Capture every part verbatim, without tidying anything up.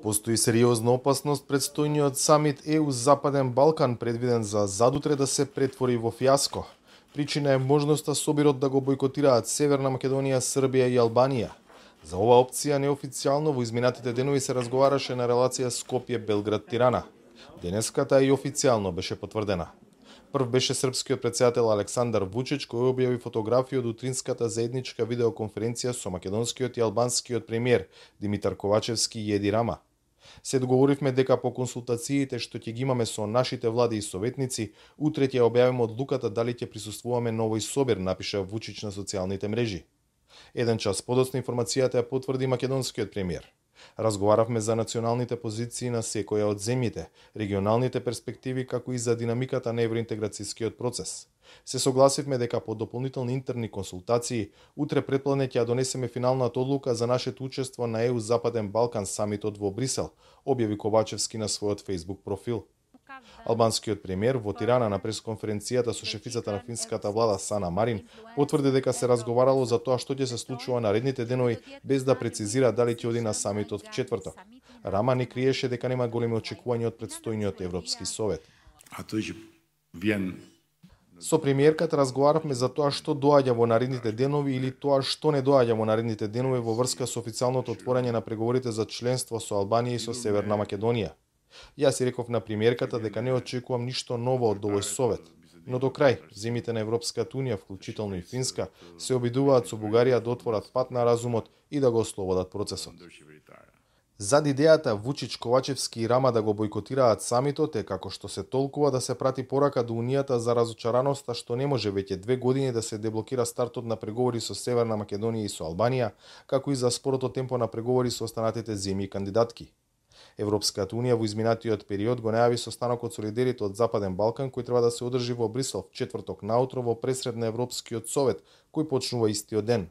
Постои сериозна опасност предстојниот самит Е У Западен Балкан предвиден за задутре да се претвори во фијаско. Причина е можноста собирот да го бойкотираат Северна Македонија, Србија и Албанија. За ова опција неофицијално во изминатите денови се разговараше на релација Скопје-Белград-Тирана. Денеска таа и официјално беше потврдена. Прв беше српскиот претседател Александар Вучич, кој објави фотографија од утринската заедничка видеоконференција со македонскиот и албанскиот премиер Димитар Ковачевски и Еди Рама. Се договоривме дека по консултациите што ќе ги имаме со нашите влади и советници, утре ќе објавиме одлуката дали ќе присуствуваме на овој собир, напиша Вучич на социјалните мрежи. Еден час подоцна информацијата ја потврди македонскиот премиер. Разговаравме за националните позиции на секоја од земјите, регионалните перспективи како и за динамиката на евроинтеграцијскиот процес. Се согласивме дека по дополнителни интерни консултации утре претпладне ќе ја донесеме финалната одлука за нашето учество на Е У Западен Балкан самитот во Брисел, објави Ковачевски на својот Facebook профил. Албанскиот премиер во Тирана на пресконференцијата со шефицата на финската влада Сана Марин потврди дека се разговарало за тоа што ќе се случува наредните денови, без да прецизира дали ќе оди на самитот в четврток. Рама не криеше дека нема големи очекувања од предстојниот Европски совет. Со премиерката разговаравме за тоа што доаѓа во наредните денови или тоа што не доаѓа во наредните денови во врска со официјалното отворање на преговорите за членство со Албанија и со Северна Македонија. Јас си реков на премиерката дека не очекувам ништо ново од овој совет, но до крај земјите на Европската унија, вклучително и Финска, се обидуваат со Бугарија да отворат пат на разумот и да го ослободат процесот. Зад идејата Вучич, Ковачевски и Рама да го бойкотираат самитот е, како што се толкува, да се прати порака до Унијата за разочараноста што не може веќе две години да се деблокира стартот на преговори со Северна Македонија и со Албанија, како и за спорото темпо на преговори со останатите земји кандидатки. Европската унија во изминатиот период го најави состанокот со лидерите од Западен Балкан кој треба да се одржи во Брисел в четврток наутро во пресред на Европскиот совет, кој почнува истиот ден.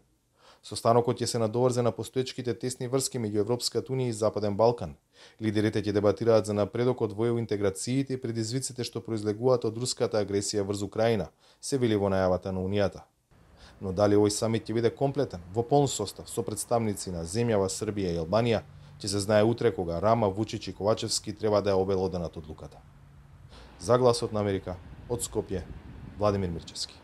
Состанокот ќе се надоврзе на постоечките тесни врски меѓу Европската унија и Западен Балкан. Лидерите ќе дебатираат за напредокот во интеграциите и предизвиците што произлегуваат од руската агресија врз Украина, се вели во најавата на Унијата. Но дали овој самит ќе биде комплетен, во полн состав, со представници на земјава Србија и Албанија, ќе се знае утре кога Рама, Вучич и Ковачевски треба да ја обелоданат одлуката. За Гласот на Америка, од Скопје, Владимир Мирчевски.